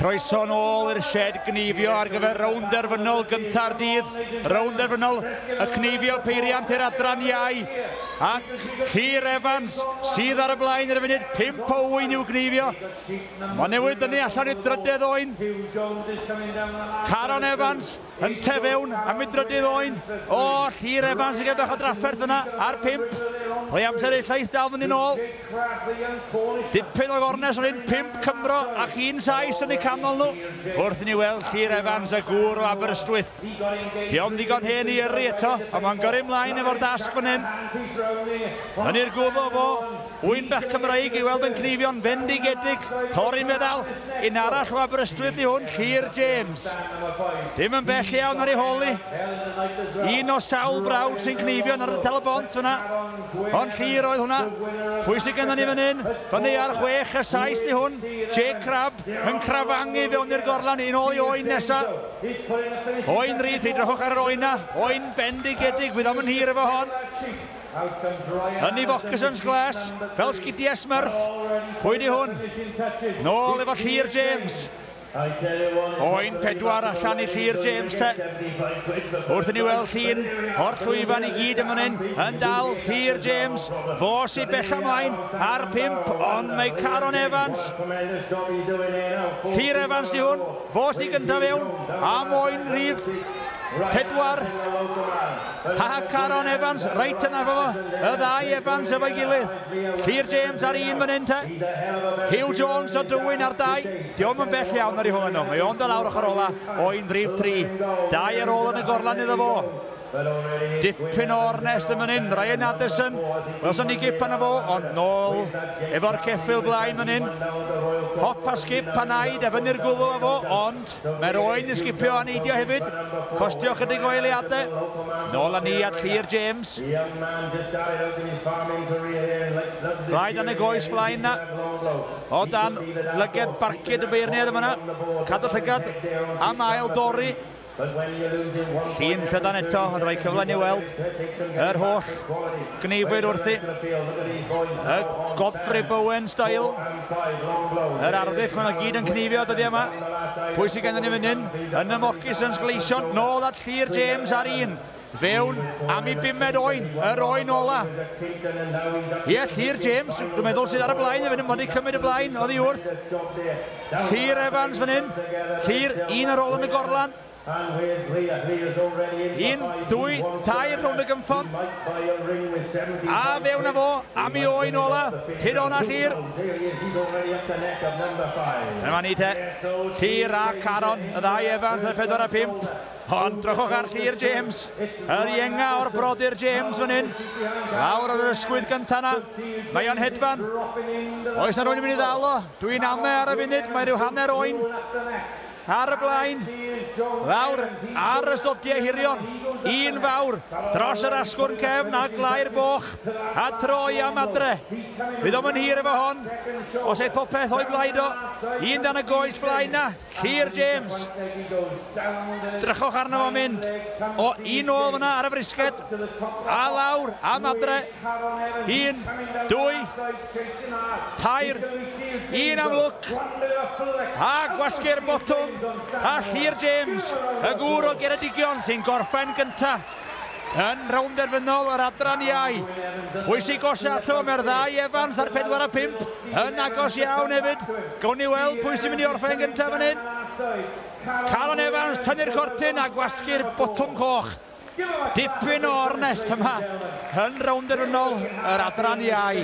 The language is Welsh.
Croeso nôl i'r shed gneifio ar gyfer rownd derfynol gynta'r dydd. Rownd derfynol y cneifio peiriant i'r adran iau. Ac Llyr Evans sydd ar y blaen ar y funud, 5 o ŵyn i'w gneifio. Mae newydd dynnu allan i'r drydedd oen. Caron Evans yn tefewn am ei drydydd oen. O, Llyr Evans yn gael bach o drafferth yna ar 5. Rhoi amser i'r lleill dal fynd yn ôl. Dipyn o gornes o'n hyn, 5 Cymro ac un Sais yn eu canol nhw. Wrth i ni weld Llyr Evans, y gŵr o Aberystwyth. Dio'm ddigon hen i yrru eto, ond mae'n gyrru mlaen efo'r dasg fan hyn. Yn i'r gwddw fo, ŵyn bach Cymreig i weld yn cneifio'n fendigedig. Torri meddal, un arall o Aberystwyth i hwn, Llyr James. Dim yn bell iawn ar ei hôl hi. Un o sawl brawd sy'n cneifio yn ardal y bont fyna. Ond Llyr oedd hwnna. Pwy sydd gennym ni fan hyn? Fyny ar 6 y 7 di hwn. Jake Crabb yn crafangu fewn i'r gorlan un ôl i oen nesa. Oen rydd, edrychwch ar yr oen na. Oen bendigedig, fydd o'm yn hir efo hon. Yn ei foccasins glas, fel sgidiau Smurf. Pwy di hwn? Nôl efo Llyr James. Oen 4 allan i Llyr James te. Wrth i ni weld llun o'r llwyfan i gyd yn fan hyn, yn dal Llyr James, fo sy'n bell ymlaen ar 5, ond mae Caron Evans. Llyr Evans di hwn, fo sy'n gyntaf fewn, am oen rhif 4. Ha, Caron Evans, reit yna fo, y ddau Evans efo'i gilydd. Llyr James ar 1 fan hyn te. Hugh Jones o Dywyn ar 2. Dio'm yn bell iawn ar ei hôl nhw. Mae o'n dod lawr ochr ola, oen rhif 3. 2 ar ôl yn y gorlan iddo fo. Dipyn o ornest yn fan hyn. Ryan Addison, welson ni gip arno fo, ond nôl efo'r ceffyl blaen fan hyn. Hop a sgip a naid a fyny'r gwddw â fo, ond mae'r oen yn sgipio a neidio hefyd. Costio chydig o eiliadau. Nôl â ni at Llyr James. Rhaid yn y goes flaen na. O dan lyged barcud y beirniaid yma na. Cadw llygad am ail dorri. Llun llydan eto yn rhoi cyfle ni weld yr holl gneifwyr wrthi. Y Godfrey Bowen style. Yr arddull, maen nhw gyd yn cneifio dyddiau yma. Pwy sydd gennym ni fan hyn? Yn y moccasins gleision, nôl at Llyr James ar 1. Fewn am ei bumed oen, yr oen ola. Ie, Llyr James, dwi'n meddwl sydd ar y blaen, fan hyn, wedi cymryd y blaen oddi wrth Llyr Evans fan hyn. Llyr, un ar ôl yn y gorlan. 1, 2, 3 rownd y gynffon. A fewn â fo, am ei oen ola. Tyd o'na Llyr. Dyma ni te. Llyr a Caron, y ddau Evans ar 4 a 5. Ond drychwch ar Llyr James, yr ienga o'r brodyr James fan hyn. Lawr ar yr ysgwydd gynta na. Mae o'n hedfan. Oes na rwy'n mynd i ddal o? Dwi'n ame ar y funud, mae rhyw hanner oen ar y blaen. Lawr ar y stodiau hirion. Un fawr dros yr asgwrn cefn a glau'r boch a troi am adre. Fydd o'm yn hir efo hon. Os eith popeth o'i blaid o. Un dan y goes flaen na. Llyr James. Drychwch arno fo'n mynd. O, un ôl fyna ar y frisged. A lawr am adre. 1, 2, 3, 1 am lwc. A gwasgu'r botwm. A Llyr James, y gŵr o Geredigion sy'n gorffen gynta yn rownd derfynol yr adran iau. Pwy sy'n gosa ato? Mae'r ddau Evans ar 4 a 5 yn agos iawn hefyd. Gawn ni weld pwy sy'n mynd i orffen gynta fan hyn. Caron Evans tynnu'r cortyn a gwasgu'r botwm coch. Dipyn o ornest yma yn rownd derfynol yr adran iau.